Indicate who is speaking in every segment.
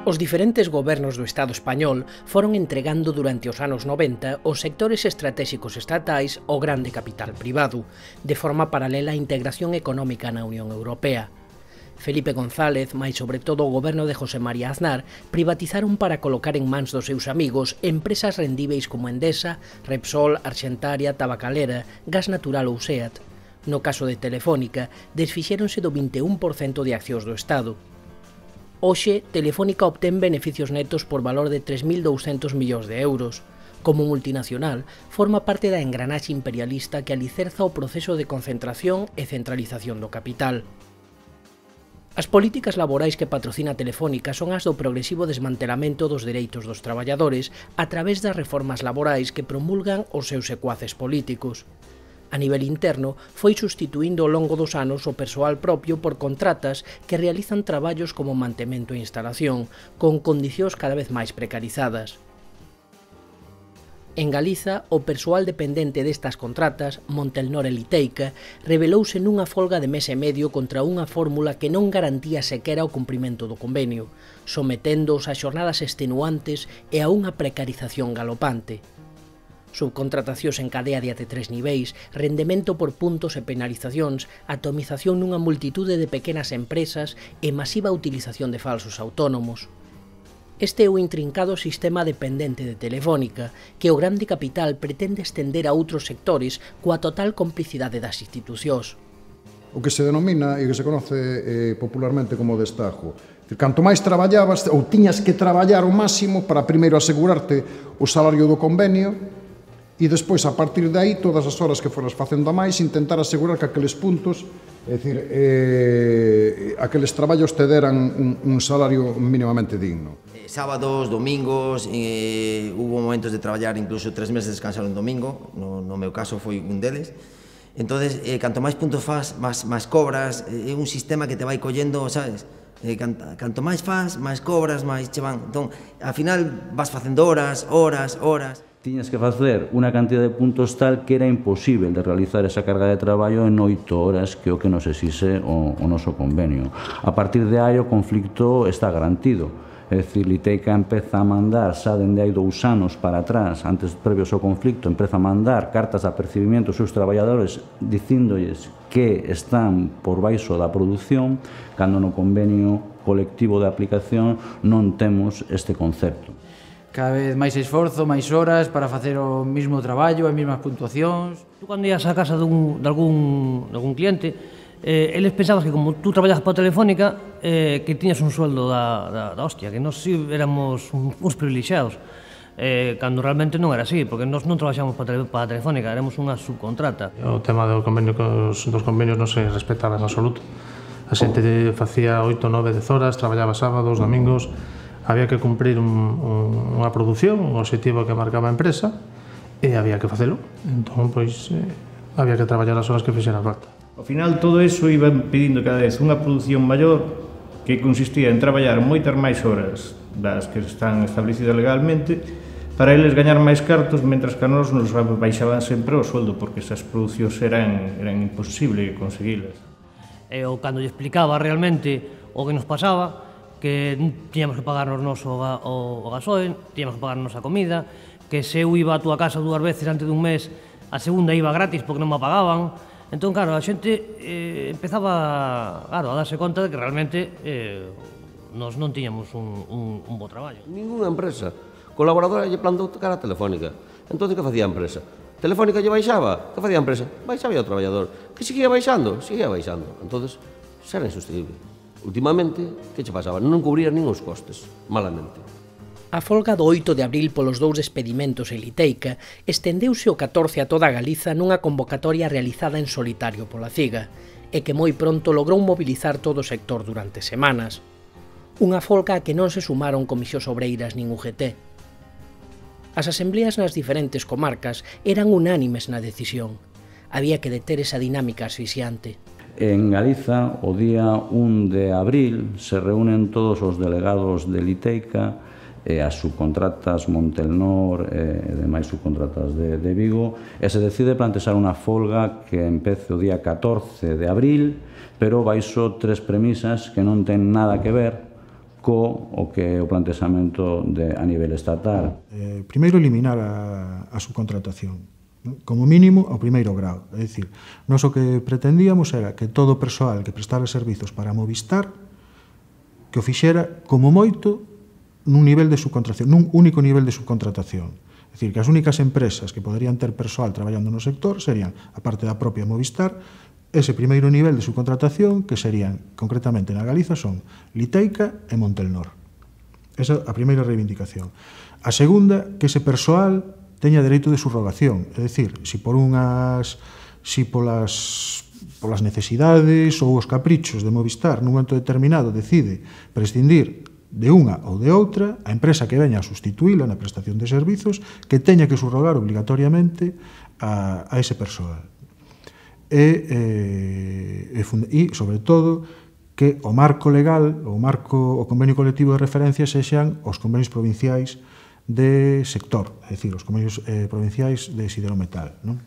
Speaker 1: Os diferentes gobernos do Estado español foron entregando durante os anos 90 os sectores estratégicos estatais ao grande capital privado, de forma paralela á integración económica na Unión Europea. Felipe González, mais sobre todo o goberno de José María Aznar, privatizaron para colocar en mans dos seus amigos empresas rendíveis como Endesa, Repsol, Arxentaria, Tabacalera, Gas Natural ou SEAT. No caso de Telefónica, desfixéronse do 21% de accións do Estado. Hoxe, Telefónica obtén beneficios netos por valor de 3.200 millóns de euros. Como multinacional, forma parte da engranaxe imperialista que alicerza o proceso de concentración e centralización do capital. As políticas laborais que patrocina Telefónica son as do progresivo desmantelamento dos dereitos dos traballadores a través das reformas laborais que promulgan os seus secuaces políticos. A nivel interno, foi sustituindo ao longo dos anos o persoal propio por contratas que realizan traballos como mantemento e instalación, con condicións cada vez máis precarizadas. En Galiza, o persoal dependente destas contratas, Montelnor e Liteica, rebelouse nunha folga de mes e medio contra unha fórmula que non garantía sequera o cumprimento do convenio, someténdoos a xornadas extenuantes e a unha precarización galopante. Subcontratacións en cadea de até 3 niveis, rendemento por puntos e penalizacións, atomización nunha multitude de pequenas empresas e masiva utilización de falsos autónomos. Este é o intrincado sistema dependente de Telefónica, que o grande capital pretende estender a outros sectores coa total complicidade das institucións.
Speaker 2: O que se denomina e que se conoce popularmente como destajo. Canto máis traballabas, ou tiñas que traballar o máximo para primeiro asegurarte o salario do convenio, e despois, a partir de aí, todas as horas que foras facendo a máis, intentar asegurar que aqueles puntos, é dicir, aqueles traballos te deran un salario mínimamente digno.
Speaker 3: Sábados, domingos, hubo momentos de traballar incluso 3 meses de descansar un domingo, no meu caso foi un deles. Entonces, canto máis puntos faz, máis cobras, é un sistema que te vai collendo, sabes? Canto máis faz, máis cobras, máis che van. Entón, ao final vas facendo horas.
Speaker 4: Tiñas que facer unha cantidad de puntos tal que era imposible de realizar esa carga de traballo en 8 horas, que é o que nos exixe o noso convenio. A partir de aí o conflicto está garantido. É dicir, Liteica empeza a mandar, xa dende hai 2 anos para atrás, antes previos ao conflicto, empeza a mandar cartas de apercibimiento aos seus traballadores dicíndolles que están por baixo da produción, cando no convenio colectivo de aplicación non temos este concepto.
Speaker 5: Cada vez máis esforzo, máis horas para facer o mesmo traballo, as mesmas puntuacións.
Speaker 6: Tú cando ías á casa de algún cliente, eles pensabas que como tú traballas para Telefónica, que tiñas un sueldo da hostia, que nós éramos uns privilexiados, cando realmente non era así, porque nós non traballamos para Telefónica, éramos unha subcontrata.
Speaker 7: O tema dos convenios non se respetaba en absoluto. A xente facía 8, 9, 10 horas, traballaba sábados, domingos. Había que cumprir unha produción, un objetivo que marcaba a empresa, e había que facelo. Entón, pois, había que traballar as horas que fixera falta.
Speaker 8: Ao final, todo iso iba pedindo cada vez unha produción maior que consistía en traballar moitas máis horas das que están establecidas legalmente para eles gañar máis cartos, mentras que a nos baixaban sempre o sueldo, porque esas producións eran imposible conseguilas.
Speaker 6: Eu, cando lle explicaba realmente o que nos pasaba, que tiñamos que pagarnos o gasoil, tiñamos que pagarnos a comida, que se eu iba a túa casa 2 veces antes dun mes, a segunda iba gratis porque non me pagaban. Entón, claro, a xente empezaba a darse conta de que realmente nós non tiñamos un bo traballo.
Speaker 9: Ninguna empresa colaboradora lle plantou cara a Telefónica. Entón, que facía a empresa? Telefónica lle baixaba? Que facía a empresa? Baixaba o traballador. Que seguía baixando? Seguía baixando. Entón, xa era insustituible. Últimamente, que che pasaba? Non cubrían nin os costes, malamente.
Speaker 1: A folga do 8 de abril polos 2 despedimentos en Liteica estendeuse o 14 a toda Galiza nunha convocatoria realizada en solitario pola CIGA e que moi pronto logrou mobilizar todo o sector durante semanas. Unha folga a que non se sumaron comisións obreiras nin UGT. As asembleas nas diferentes comarcas eran unánimes na decisión. Había que deter esa dinámica asfixiante.
Speaker 4: En Galiza, o día 1 de abril, se reúnen todos os delegados de Liteica e as subcontratas Montelnor e demais subcontratas de Vigo, e se decide plantexar unha folga que empece o día 14 de abril, pero baixo 3 premisas que non ten nada que ver o que é o plantexamento a nivel estatal.
Speaker 10: Primeiro, eliminar a subcontratación, como mínimo ao primeiro grau. É dicir, nós o que pretendíamos era que todo o persoal que prestara servizos para Movistar que o fixera como moito nun nivel de subcontratación, nun único nivel de subcontratación. É dicir, que as únicas empresas que poderían ter persoal traballando no sector serían, a parte da propia Movistar, ese primeiro nivel de subcontratación que serían, concretamente na Galiza, son Liteica e Montelnor. Esa é a primeira reivindicación. A segunda, que ese persoal teña dereito de subrogación, é dicir, se polas necesidades ou os caprichos de Movistar nun momento determinado decide prescindir de unha ou de outra, a empresa que veña a sustituíla na prestación de servizos que teña que subrogar obligatoriamente a ese persoal. E, sobre todo, que o marco legal, o convenio colectivo de referencia sexan os convenios provinciais de sector, é dicir, os convenios provinciais de siderometal, non?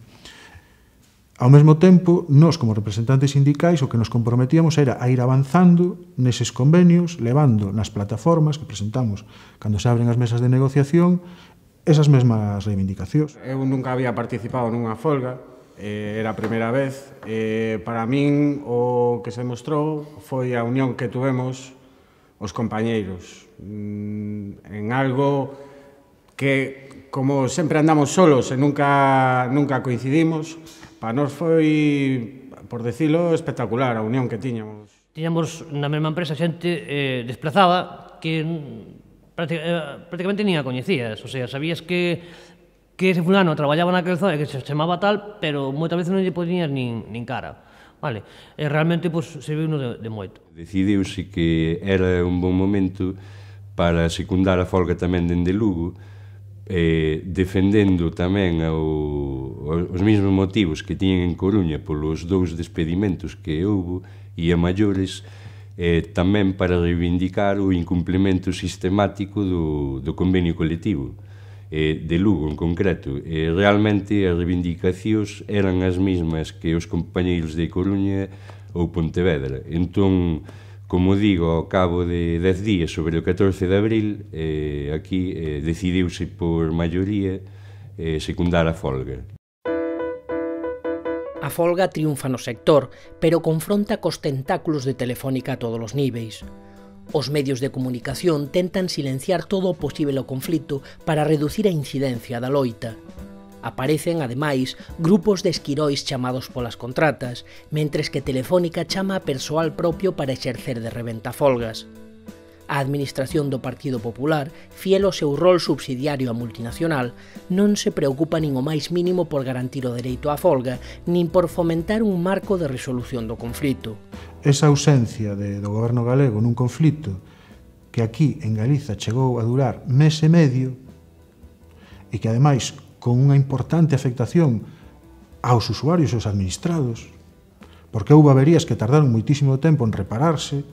Speaker 10: Ao mesmo tempo, nós, como representantes sindicais, o que nos comprometíamos era a ir avanzando neses convenios, levando nas plataformas que presentamos cando se abren as mesas de negociación esas mesmas reivindicacións.
Speaker 11: Eu nunca había participado nunha folga, era a primeira vez. Para min o que se mostrou foi a unión que tuvemos os compañeiros en algo que, como sempre andamos solos e nunca coincidimos, para nós foi, por decirlo, espectacular a unión que tiñamos.
Speaker 6: Tiñamos na mesma empresa xente desplazada que prácticamente nin a coñecías, o sea, sabías que ese fulano traballaba naquel zona, que se chamaba tal, pero moitas veces non lle poñías nin cara. Vale, e realmente serviu-nos de moito.
Speaker 12: Decidiuse que era un bon momento para secundar a folga tamén dende Lugo, defendendo tamén os mesmos motivos que tiñen en Coruña polos 2 despedimentos que houbo e a maiores, tamén para reivindicar o incumplimento sistemático do convenio colectivo de Lugo en concreto. Realmente as reivindicacións eran as mesmas que os compañeiros de Coruña ou Pontevedra. Entón, como digo, ao cabo de 10 días, sobre o 14 de abril, aquí decidiuse por maioría secundar a folga.
Speaker 1: A folga triunfa no sector, pero confronta cos tentáculos de Telefónica a todos os níveis. Os medios de comunicación tentan silenciar todo o posible o conflito para reducir a incidencia da loita. Aparecen, ademais, grupos de esquirois chamados polas contratas, mentres que Telefónica chama a persoal propio para exercer de reventafolgas. A administración do Partido Popular, fiel ao seu rol subsidiario á multinacional, non se preocupa nin o máis mínimo por garantir o dereito á folga, nin por fomentar un marco de resolución do conflito.
Speaker 10: Esa ausencia do goberno galego nun conflito que aquí en Galiza chegou a durar mes e medio e que ademais con unha importante afectación aos usuarios e aos administrados, porque houve averías que tardaron moitísimo tempo en repararse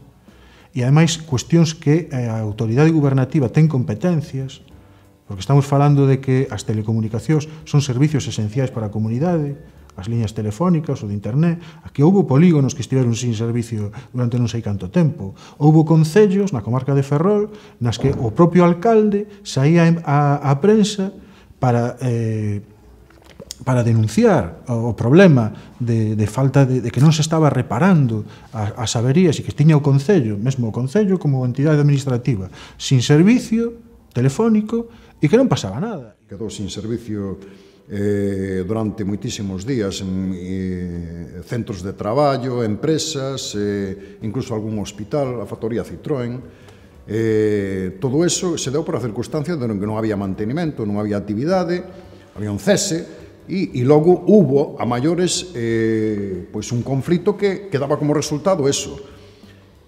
Speaker 10: e ademais cuestións que a autoridade gubernativa ten competencias, porque estamos falando de que as telecomunicacións son servicios esenciais para a comunidade, as liñas telefónicas ou de internet, aquí houve polígonos que estiveron sin servicio durante non sei canto tempo. Houve concellos na comarca de Ferrol nas que o propio alcalde saía á prensa para denunciar o problema de falta de que non se estaba reparando as averías e que tiña o concello, mesmo o concello como entidade administrativa, sin servicio telefónico e que non pasaba nada.
Speaker 2: Quedou sin servicio durante moitísimos días en centros de traballo, empresas, incluso algún hospital, a factoría Citroën. Todo eso se deu por a circunstancia de que non había mantenimento, non había actividade, había un cese e logo hubo a maiores un conflito que daba como resultado eso.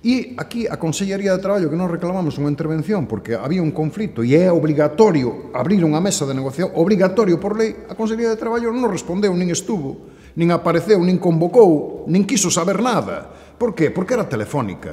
Speaker 2: E aquí a Consellería de Traballo, que nos reclamamos unha intervención porque había un conflito e é obligatorio abrir unha mesa de negociación, obligatorio por lei, a Consellería de Traballo non respondeu, nin estuvo, nin apareceu, nin convocou, nin quiso saber nada. Por qué? Porque era Telefónica.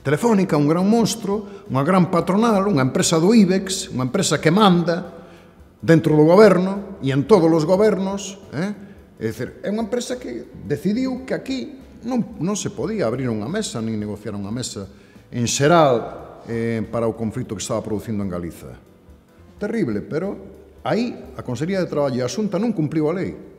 Speaker 2: Telefónica, un gran monstro, unha gran patronal, unha empresa do IBEX, unha empresa que manda dentro do goberno e en todos os gobernos. É dicir, é unha empresa que decidiu que aquí non se podía abrir unha mesa, nin negociar unha mesa en xeral para o conflito que estaba producindo en Galiza. Terrible, pero aí a Consellería de Traballo e a Xunta non cumpliu a lei.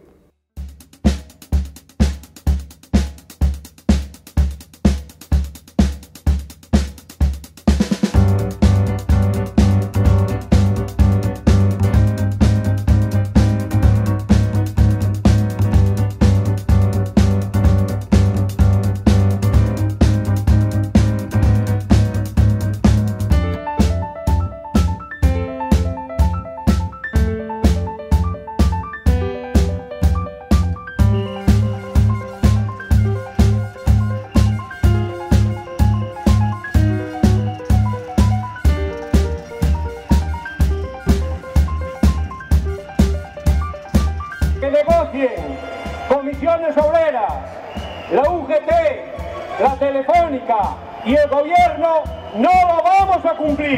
Speaker 13: Que negocien comisiones obreras, la UGT, la Telefónica y el gobierno, no lo vamos a cumplir.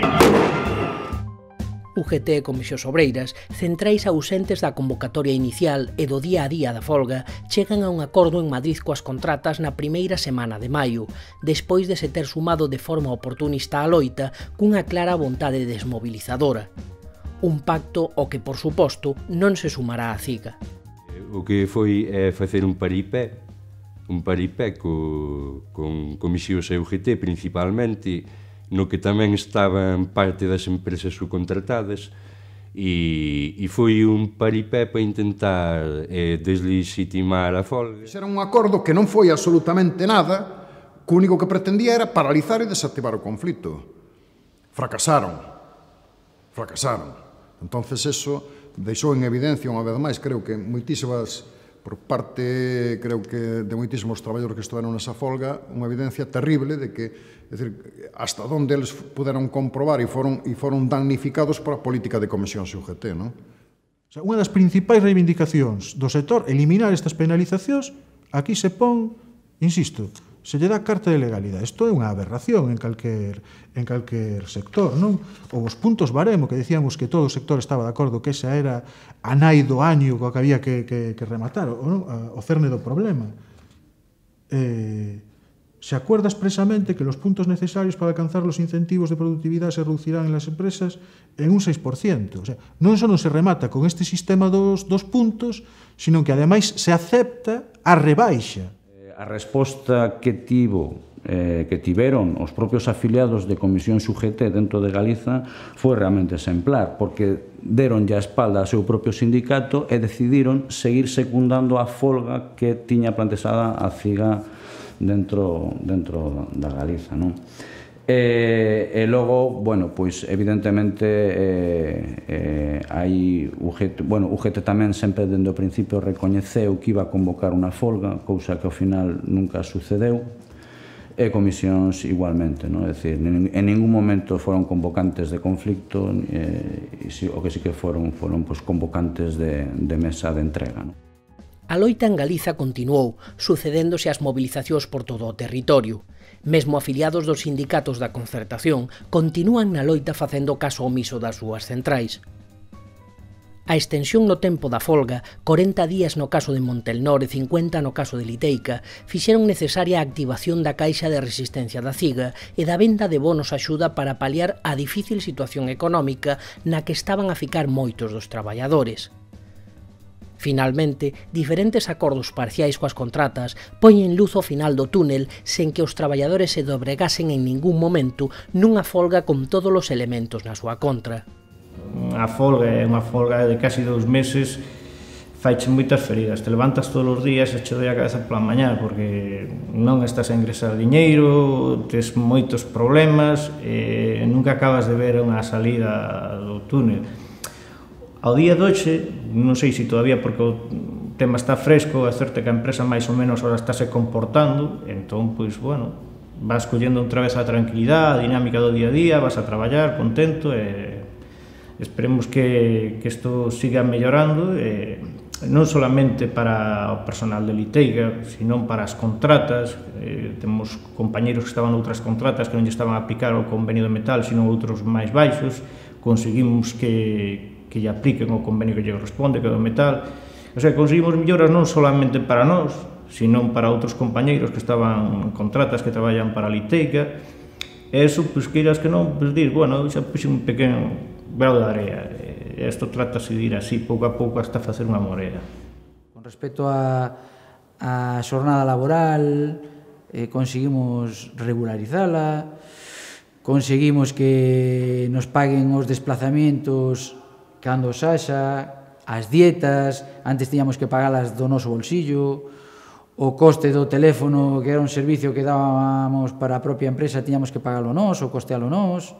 Speaker 1: UGT e Comisións Obreiras, centrais ausentes da convocatoria inicial e do día a día da folga, chegan a un acordo en Madrid coas contratas na primeira semana de maio, despois de se ter sumado de forma oportunista á loita cunha clara vontade desmobilizadora. Un pacto ao que, por suposto, non se sumará a CIGA.
Speaker 12: O que foi facer un paripé con Comisións e UGT principalmente, no que tamén estaban parte das empresas subcontratadas, e foi un paripé para intentar deslegitimar a folga.
Speaker 2: Era un acordo que non foi absolutamente nada, que o único que pretendía era paralizar e desactivar o conflito. Fracasaron. Entonces eso deixou en evidencia unha vez máis, creo que moitísimas, por parte, creo que de moitísimos traballadores que estiveron nesa folga, unha evidencia terrible de que, é dicir, hasta onde eles puderon comprobar e foron damnificados por a política de Comisións e UGT, non?
Speaker 10: O sea, unha das principais reivindicacións do sector, eliminar estas penalizacións, aquí se pon, insisto, se lle dá carta de legalidade. Isto é unha aberración en calquer sector, non? Ou os puntos baremo, que decíamos que todo o sector estaba de acordo que esa era a nai do año coa que había que rematar, o cerne do problema. Se acuerda expresamente que los puntos necesarios para alcanzar los incentivos de productividad se reducirán en las empresas en un 6%. O sea, non só non se remata con este sistema dos puntos, sino que ademais se acepta a rebaixa.
Speaker 4: A resposta que tiveron os propios afiliados de Comisións UGT dentro de Galiza foi realmente exemplar, porque deron a espalda ao seu propio sindicato e decidiron seguir secundando a folga que tiña plantexada a CIGA dentro da Galiza, non? E logo, bueno, pois evidentemente hai UGT tamén sempre dende o principio recoñeceu que iba a convocar unha folga, cousa que ao final nunca sucedeu, e Comisións igualmente, non? É dicir, en ningún momento foron convocantes de conflicto, o que sí que foron convocantes de mesa de entrega, non?
Speaker 1: A loita en Galiza continuou, sucedéndose as movilizacións por todo o territorio. Mesmo afiliados dos sindicatos da concertación continúan na loita facendo caso omiso das súas centrais. A extensión no tempo da folga, 40 días no caso de Montelnor e 50 no caso de Liteica, fixeron necesaria a activación da caixa de resistencia da CIGA e da venda de bonos axuda para paliar a difícil situación económica na que estaban a ficar moitos dos traballadores. Finalmente, diferentes acordos parciais coas contratas poñen luz ao final do túnel sen que os traballadores se dobregasen en ningún momento nunha folga con todos os elementos na súa contra.
Speaker 8: A folga é unha folga de casi 2 meses, faiche moitas feridas, te levantas todos os días e che doi a cabeza pola mañá porque non estás a ingresar diñeiro, tes moitos problemas e nunca acabas de ver unha salida do túnel. Ao día de hoxe, non sei se todavía porque o tema está fresco, é certo que a empresa máis ou menos ahora estáse comportando, entón, pois, bueno, vas collendo outra vez a tranquilidade, a dinámica do día a día, vas a traballar contento e esperemos que isto siga mellorando, non solamente para o personal de Liteiga, sino para as contratas. Temos compañeros que estaban noutras contratas que non lle estaban a aplicar o convenio de metal, sino outros máis baixos, conseguimos que lle apliquen o convenio que lle corresponde, que é do metal. O sea, conseguimos melloras non solamente para nós, sino para outros compañeiros que estaban en contratas que traballan para Liteica, E eso, pois, queiras que non, pois, dir, bueno, xa puxe un pequeno grau de area. Isto trátase de ir así, pouco a pouco, hasta facer unha morea.
Speaker 5: Con respecto a xornada laboral, conseguimos regularizala, conseguimos que nos paguen os desplazamientos cando os haxa, as dietas, antes tiñamos que pagalas do noso bolsillo, o coste do teléfono, que era un servicio que dábamos para a propia empresa, tiñamos que pagalo nós, ou costealo nós,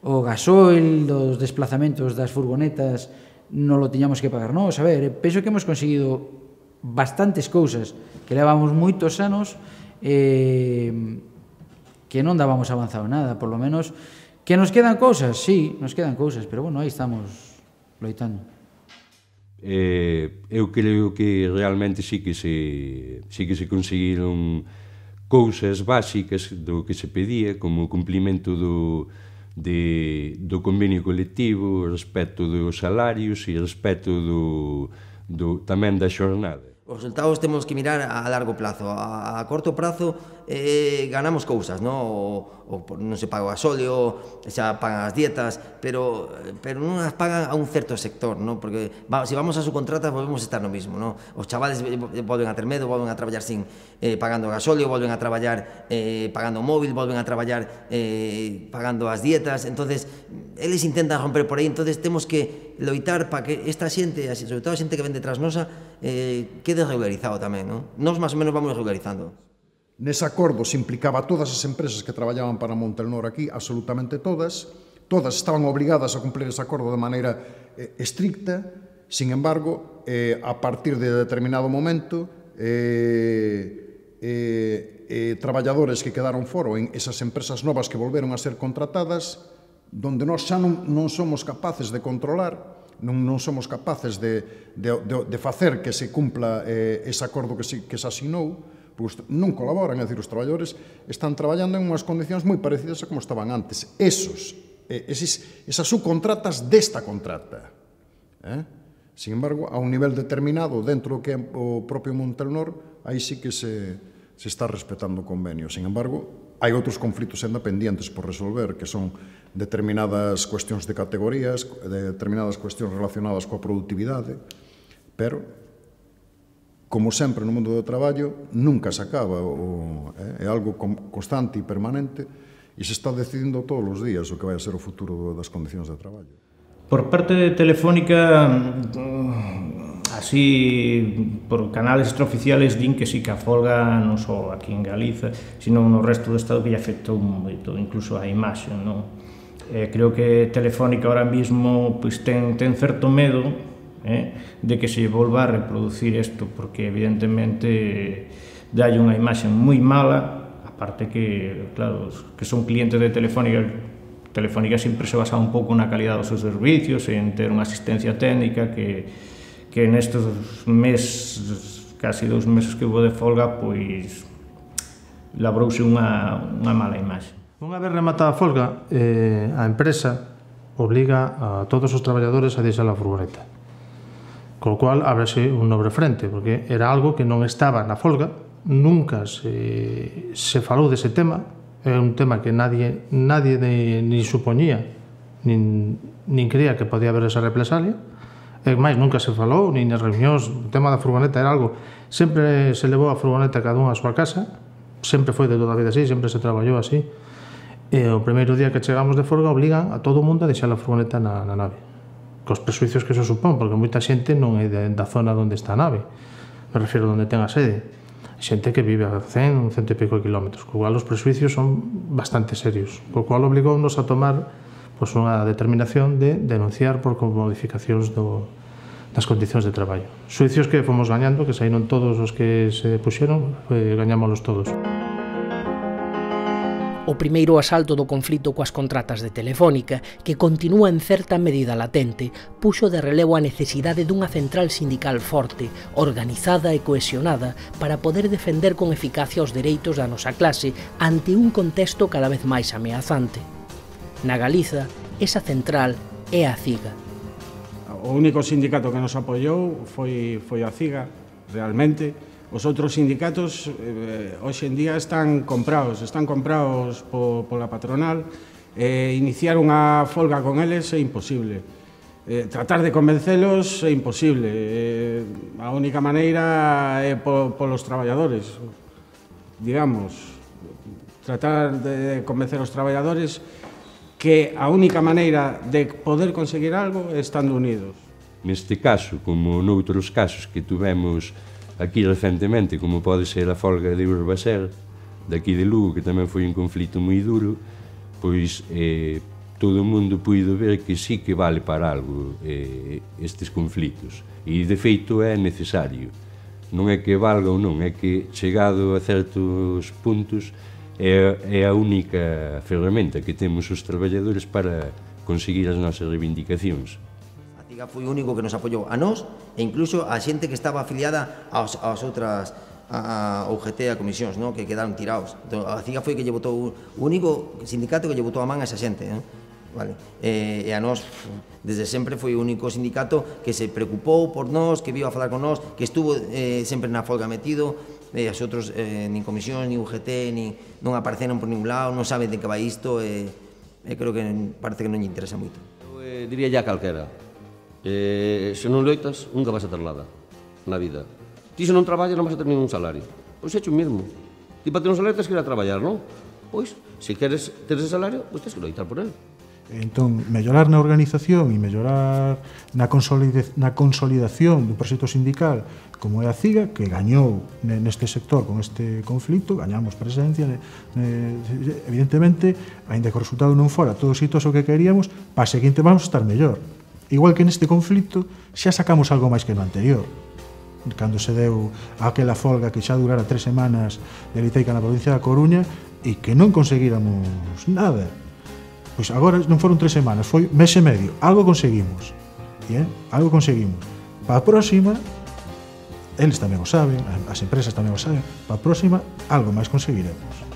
Speaker 5: o gasoil dos desplazamentos das furgonetas non lo tiñamos que pagar nós. A ver, penso que hemos conseguido bastantes cousas que levamos moitos anos que non dábamos avanzado nada, por lo menos. Que nos quedan cousas, sí, nos quedan cousas, pero bueno, aí estamos loitando.
Speaker 12: Eu creo que realmente sí que se conseguiron cousas básicas do que se pedía, como o cumplimento do convenio colectivo, respecto dos salarios e respecto tamén da xornada.
Speaker 3: Os resultados temos que mirar a largo plazo. A corto prazo ganamos cousas, non se paga o gasóleo, xa pagan as dietas, pero non as pagan a un certo sector, non? Porque se vamos a subcontratas volvemos a estar no mismo, non? Os chavales volven a ter medo, volven a traballar sin pagando o gasóleo, volven a traballar pagando o móvil, volven a traballar pagando as dietas. Entonces eles intentan romper por aí, entonces temos que loitar para que esta xente, sobre todo a xente que ven detrás nosa, quede regularizado tamén, non? Nos máis ou menos vamos regularizando.
Speaker 2: Nese acordo se implicaba a todas as empresas que traballaban para Montelnor aquí, absolutamente todas estaban obrigadas a cumplir ese acordo de maneira estricta. Sin embargo, a partir de determinado momento, traballadores que quedaron fora en esas empresas novas que volveron a ser contratadas, donde nós xa non somos capaces de controlar, non somos capaces de facer que se cumpla ese acordo que se asinou, pois non colaboran, é dicir, os traballadores están traballando en unhas condicións moi parecidas a como estaban antes. Esas subcontratas desta contrata. Sin embargo, a un nivel determinado dentro do que é o propio Montelnor, aí sí que se está respetando o convenio. Sin embargo, hai outros conflitos ainda pendientes por resolver, que son determinadas cuestións de categorías, determinadas cuestións relacionadas coa productividade, pero como sempre no mundo do traballo, nunca se acaba, é algo constante e permanente, e se está decidindo todos os días o que vai a ser o futuro das condicións de traballo.
Speaker 8: Por parte de Telefónica, así, por canales extraoficiales, din que sí que a folga non só aquí en Galiza, sino no resto do Estado, que lle afectou moito, incluso a imaxe, non? Creo que Telefónica ahora mismo ten certo medo de que se volva a reproducir isto, porque evidentemente dalle unha imaxe moi mala, aparte que, claro, que son clientes de Telefónica. Telefónica sempre se basa un pouco na calidad dos seus servicios, en ter unha asistencia técnica que nestes meses, casi 2 meses que houve de folga, pois labrouse unha mala imaxe.
Speaker 7: Unha vez rematada a folga, a empresa obliga a todos os traballadores a deixar a furgoneta, co cual ábrese un novo frente, porque era algo que non estaba na folga, nunca se falou dese tema, é un tema que nadie ni supoñía, nin creía que podía haber esa represalia, e máis, nunca se falou, nin nas reunións, o tema da furgoneta era algo, sempre se levou a furgoneta cada un á súa casa, sempre foi de toda a vida así, sempre se traballou así, e o primeiro día que chegamos de folga obligan a todo o mundo a deixar a furgoneta na nave, cos presuicios que eso supón, porque moita xente non é da zona onde está a nave, me refiro onde ten a sede, xente que vive a 100 e pico kilómetros, co cual os presuicios son bastante serios, co cual obligounos a tomar unha determinación de denunciar por modificacións das condicións de traballo. Suicios que fomos gañando, que saíron todos os que se puxeron, gañámoslos todos.
Speaker 1: O primeiro asalto do conflito coas contratas de Telefónica, que continúa en certa medida latente, puxo de relevo a necesidade dunha central sindical forte, organizada e cohesionada para poder defender con eficacia os dereitos da nosa clase ante un contexto cada vez máis ameazante. Na Galiza, esa central é a CIGA.
Speaker 11: O único sindicato que nos apoiou foi a CIGA, realmente. Os outros sindicatos hoxe en día están comprados pola patronal, iniciar unha folga con eles é imposible. Tratar de convencelos é imposible. A única maneira é polos traballadores, digamos, tratar de convencer os traballadores que a única maneira de poder conseguir algo é estando unidos.
Speaker 12: Neste caso, como noutros casos que tuvemos aquí recentemente, como pode ser a folga de Urbaser, daqui de Lugo, que tamén foi un conflito moi duro, pois todo o mundo puido ver que sí que vale para algo estes conflitos. E, de feito, é necesario. Non é que valga ou non, é que, chegado a certos puntos, é a única ferramenta que temos os traballadores para conseguir as nosas reivindicacións.
Speaker 3: A CIGA foi o único que nos apoiou a nós e incluso a xente que estaba afiliada ás outras, a UGT e a comisións, que quedaron tirados. A CIGA foi que lle botou, o único sindicato que lle botou a man a esa xente. Vale. E a nós, desde sempre, foi o único sindicato que se preocupou por nós, que viu a falar con nós, que estuvo sempre na folga metido, e as outros, nin comisións, nin UGT, non apareceron por ningún lado, non saben de que vai isto, e creo que parece que non lle interesa moito.
Speaker 9: Eu diría ya calquera, se non loitas, nunca vas a ter nada na vida. Ti se non traballas non vas a ter ningún salario. Pois é o mesmo. Ti para ter un salario tens que ir a traballar, non? Pois, se queres ter ese salario, pois tens que loitar por ele.
Speaker 10: Entón, mellorar na organización e mellorar na consolidación do proxecto sindical como é a CIGA, que gañou neste sector con este conflito, gañamos presencia, evidentemente, ainda que o resultado non fora todo exitoso que queríamos, para a seguinte vamos a estar mellor. Igual que neste conflito, xa sacamos algo máis que no anterior. Cando se deu aquela folga que xa durara 3 semanas de liteica na provincia da Coruña e que non conseguíramos nada. Pois agora non foron 3 semanas, foi mes e medio. Algo conseguimos. Algo conseguimos. Para a próxima, eles tamén o saben, as empresas tamén o saben, para a próxima, algo máis conseguiremos.